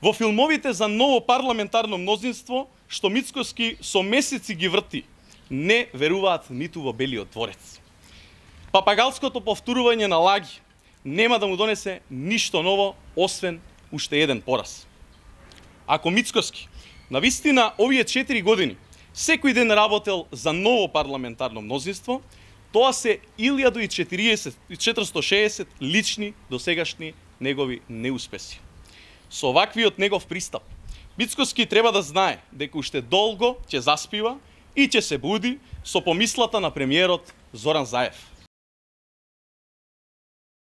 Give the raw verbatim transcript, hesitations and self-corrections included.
Во филмовите за ново парламентарно мнозинство, што Мицкоски со месеци ги врти, не веруваат ниту во Белиот дворец. Папагалското повторување на лаги нема да му донесе ништо ново, освен уште еден пораз. Ако Мицкоски навистина овие четири години секој ден работел за ново парламентарно мнозинство, тоа се илјада и четириесет шеесет лични досегашни негови неуспеси. Со оваквиот негов пристап, Мицкоски треба да знае дека уште долго ќе заспива и ќе се буди со помислата на премиерот Зоран Заев.